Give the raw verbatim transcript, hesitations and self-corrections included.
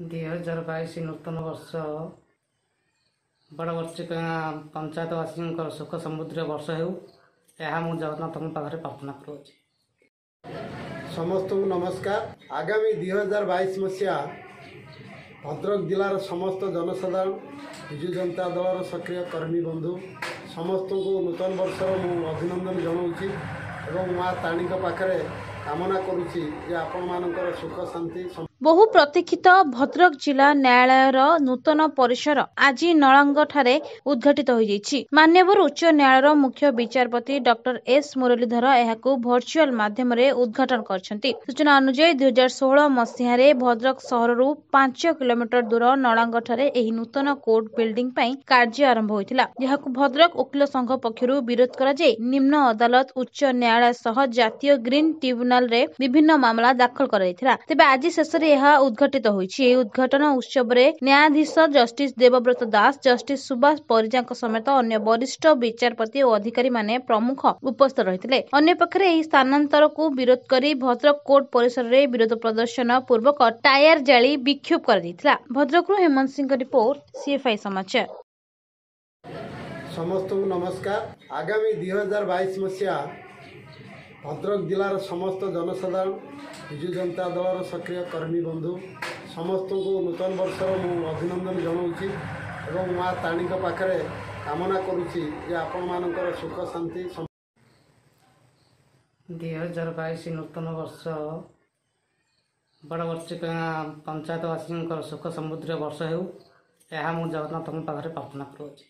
ଦୁଇ ହଜାର ବାଇଶ ନୂତନ ବର୍ଷ ବଡ଼ବର୍ଷିକା ପଞ୍ଚାୟତବାସୀଙ୍କର ସୁଖ ସମୃଦ୍ଧିର ବର୍ଷ ହେଉ, ଏହା ମୁଁ ଜଗନ୍ନାଥଙ୍କ ପାଖରେ ପ୍ରାର୍ଥନା କରୁଅଛି। ସମସ୍ତଙ୍କୁ ନମସ୍କାର। ଆଗାମୀ ଦୁଇ ହଜାର ବାଇଶ ମସିହା ଭଦ୍ରକ ଜିଲ୍ଲାର ସମସ୍ତ ଜନସାଧାରଣ, ବିଜୁ ଜନତା ଦଳର ସକ୍ରିୟ କର୍ମୀ ବନ୍ଧୁ ସମସ୍ତଙ୍କୁ ନୂତନ ବର୍ଷର ମୁଁ ଅଭିନନ୍ଦନ ଜଣାଉଛି ଏବଂ ମା ତାରିଣୀଙ୍କ ପାଖରେ କାମନା କରୁଛି ଯେ ଆପଣମାନଙ୍କର ସୁଖ ଶାନ୍ତି। ବହୁ ପ୍ରତୀକ୍ଷିତ ଭଦ୍ରକ ଜିଲ୍ଲା ନ୍ୟାୟାଳୟର ନୂତନ ପରିସର ଆଜି ନଳାଙ୍ଗଠାରେ ଉଦ୍ଘାଟିତ ହୋଇଯାଇଛି। ମାନ୍ୟବର ଉଚ୍ଚ ନ୍ୟାୟାଳୟର ମୁଖ୍ୟ ବିଚାରପତି ଡକ୍ଟର ଏସ୍ ମୁରଲୀଧର ଏହାକୁ ଭର୍ଚୁଆଲ ମାଧ୍ୟମରେ ଉଦ୍ଘାଟନ କରିଛନ୍ତି। ସୂଚନା ଅନୁଯାୟୀ, ଦୁଇ ହଜାର ଷୋହଳ ମସିହାରେ ଭଦ୍ରକ ସହରରୁ ପାଞ୍ଚ କିଲୋମିଟର ଦୂର ନଳାଙ୍ଗଠାରେ ଏହି ନୂତନ କୋର୍ଟ ବିଲ୍ଡିଂ ପାଇଁ କାର୍ଯ୍ୟ ଆରମ୍ଭ ହୋଇଥିଲା, ଯାହାକୁ ଭଦ୍ରକ ଓକିଲ ସଂଘ ପକ୍ଷରୁ ବିରୋଧ କରାଯାଇ ନିମ୍ନ ଅଦାଲତ, ଉଚ୍ଚ ନ୍ୟାୟାଳୟ ସହ ଜାତୀୟ ଗ୍ରୀନ୍ ଟ୍ରିବ୍ୟୁନାଲରେ ବିଭିନ୍ନ ମାମଲା ଦାଖଲ କରାଯାଇଥିଲା। ତେବେ ଆଜି ଶେଷରେ ଏହା ଉଦ୍ଘାଟିତ ହୋଇଛି। ଏହି ଉଦ୍ଘାଟନ ଉତ୍ସବରେ ନ୍ୟାୟାଧୀଶ ଜଷ୍ଟିସ ଦେବବ୍ରତ ଦାସ, ଜଷ୍ଟିସ ସୁବାସ ପରିଜାଙ୍କ ସମେତ ଅନ୍ୟ ବରିଷ୍ଠ ବିଚାରପତି ଓ ଅଧିକାରୀମାନେ ପ୍ରମୁଖ ଉପସ୍ଥିତ ରହିଥିଲେ। ଅନ୍ୟପକ୍ଷରେ ଏହି ସ୍ଥାନାନ୍ତରକୁ ବିରୋଧ କରି ଭଦ୍ରକ କୋର୍ଟ ପରିସରରେ ବିରୋଧ ପ୍ରଦର୍ଶନ ପୂର୍ବକ ଟାୟାର ଜାଳି ବିକ୍ଷୋଭ କରାଯାଇଥିଲା। ଭଦ୍ରକରୁ ହେମନ୍ତ ସିଂଙ୍କ ରିପୋର୍ଟ, ସିଏଫଆଇ ସମାଚାର। ସମସ୍ତଙ୍କୁ ନମସ୍କାର। ଆଗାମୀ ଦୁଇ ହଜାର ବାଇଶ ମସିହା ଭଦ୍ରକ ଜିଲ୍ଲାର ସମସ୍ତ ଜନସାଧାରଣ, ବିଜୁ ଜନତା ଦଳର ସକ୍ରିୟ କର୍ମୀ ବନ୍ଧୁ ସମସ୍ତଙ୍କୁ ନୂତନ ବର୍ଷର ମୁଁ ଅଭିନନ୍ଦନ ଜଣାଉଛି ଏବଂ ମା ତାରିଣୀଙ୍କ ପାଖରେ କାମନା କରୁଛି ଯେ ଆପଣମାନଙ୍କର ସୁଖ ଶାନ୍ତି। ଦୁଇ ହଜାର ବାଇଶ ନୂତନ ବର୍ଷ ବଡ଼ବର୍ଷିକା ପଞ୍ଚାୟତବାସୀଙ୍କର ସୁଖ ସମୃଦ୍ଧିର ବର୍ଷ ହେଉ, ଏହା ମୁଁ ଜଗନ୍ନାଥଙ୍କ ପାଖରେ ପ୍ରାର୍ଥନା କରୁଅଛି।